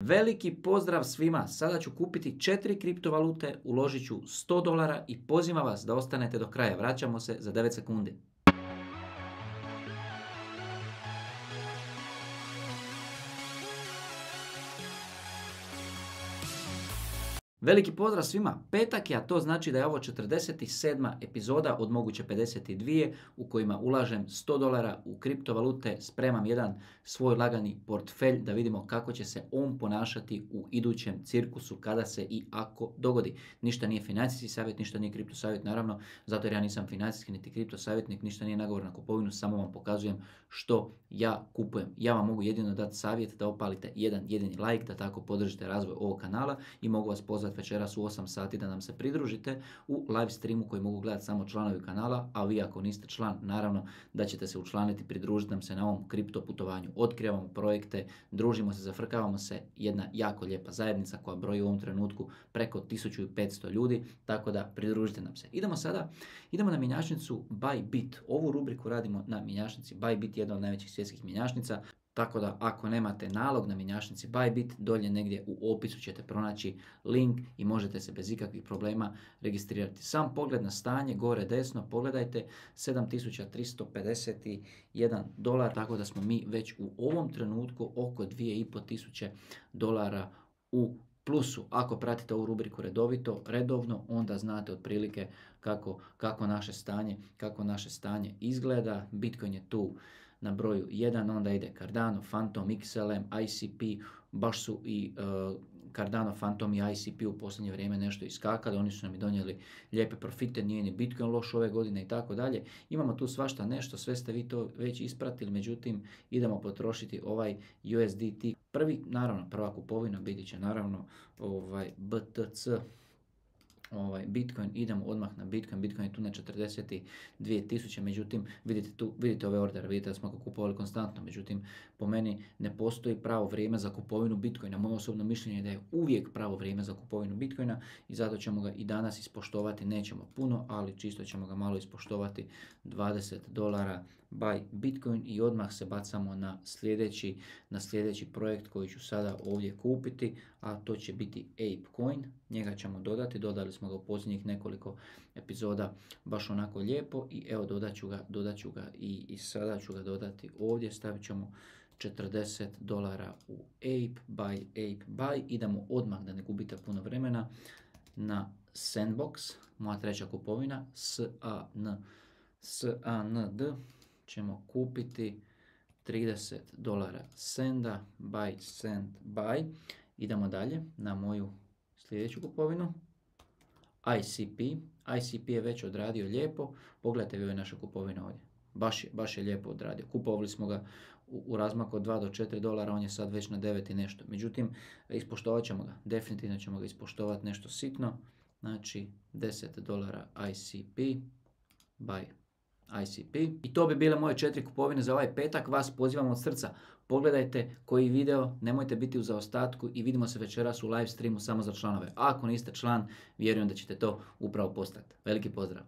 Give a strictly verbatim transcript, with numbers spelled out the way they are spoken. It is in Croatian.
Veliki pozdrav svima, sada ću kupiti četiri kriptovalute, uložit ću sto dolara i pozivam vas da ostanete do kraja. Vraćamo se za devet sekundi. Veliki pozdrav svima, petak je, a to znači da je ovo četrdeset sedma epizoda od moguće pedeset dvije u kojima ulažem sto dolara u kriptovalute, spremam jedan svoj lagani portfelj da vidimo kako će se on ponašati u idućem cirkusu kada se i ako dogodi. Ništa nije financijski savjet, ništa nije kripto savjet, naravno, zato jer ja nisam financijski niti kripto savjetnik, ništa nije nagovor na kupovinu, samo vam pokazujem što ja kupujem. Ja vam mogu jedino dati savjet da opalite jedan jedini like, da tako podržite razvoj ovog kanala i mogu vas pozvati večeras u osam sati da nam se pridružite u live streamu koji mogu gledati samo članovi kanala, a vi ako niste član, naravno da ćete se učlaniti, pridružiti nam se na ovom kripto putovanju. Otkrivamo projekte, družimo se, zafrkavamo se, jedna jako lijepa zajednica koja broji u ovom trenutku preko tisuću petsto ljudi, tako da pridružite nam se. Idemo sada, idemo na mjenjačnicu Bybit. Ovu rubriku radimo na mjenjačnici Bybit, jedna od najvećih svjetskih mjenjačnica. Tako da ako nemate nalog na mjenjačnici Bybit, dolje negdje u opisu ćete pronaći link i možete se bez ikakvih problema registrirati. Sam pogled na stanje, gore desno, pogledajte, sedam tisuća tristo pedeset jedan dolar, tako da smo mi već u ovom trenutku oko dvije i pol tisuće dolara u plusu. Ako pratite ovu rubriku redovito, redovno, onda znate otprilike kako, kako naše stanje, kako naše stanje izgleda. Bitcoin je tu na broju jedan, onda ide Cardano, Phantom, X L M, I C P, baš su i uh, Cardano, Phantom i I C P u posljednje vrijeme nešto iskakali, oni su nam i donijeli lijepe profite, nije ni Bitcoin loš ove godine i tako dalje. Imamo tu svašta nešto, sve ste vi to već ispratili, međutim idemo potrošiti ovaj U S D T. Prvi, naravno, prva kupovina biti će naravno ovaj B T C. Ovaj Bitcoin, idemo odmah na Bitcoin, Bitcoin je tu na četrdeset dvije tisuće, međutim vidite tu, vidite ove ordere, vidite da smo ga kupovali konstantno, međutim po meni ne postoji pravo vrijeme za kupovinu Bitcoina. Moje osobno mišljenje je da je uvijek pravo vrijeme za kupovinu Bitcoina i zato ćemo ga i danas ispoštovati, nećemo puno, ali čisto ćemo ga malo ispoštovati, dvadeset dolara buy Bitcoin i odmah se bacamo na sljedeći, na sljedeći projekt koji ću sada ovdje kupiti, a to će biti ApeCoin. Njega ćemo dodati, dodali smo ga u posljednjih nekoliko epizoda baš onako lijepo i evo dodat ću ga, dodat ću ga i, i sada ću ga dodati ovdje, stavit ćemo četrdeset dolara u Ape, buy, Ape, buy. Idemo odmah, da ne gubite puno vremena, na Sandbox, moja treća kupovina, S A N, S A N D, ćemo kupiti trideset dolara Senda, buy, Send, buy. Idemo dalje na moju sljedeću kupovinu, I C P. I C P je već odradio lijepo, pogledajte vi ove naše kupovine ovdje, baš je, baš je lijepo odradio. Kupovali smo ga u, u razmaku od dva do četiri dolara, on je sad već na devet i nešto. Međutim, ispoštovat ćemo ga, definitivno ćemo ga ispoštovati nešto sitno, znači deset dolara I C P, buy I C P. I to bi bile moje četiri kupovine za ovaj petak. Vas pozivam od srca, pogledajte koji video, nemojte biti u zaostatku i vidimo se večeras u live streamu samo za članove. A ako niste član, vjerujem da ćete to upravo postati. Veliki pozdrav!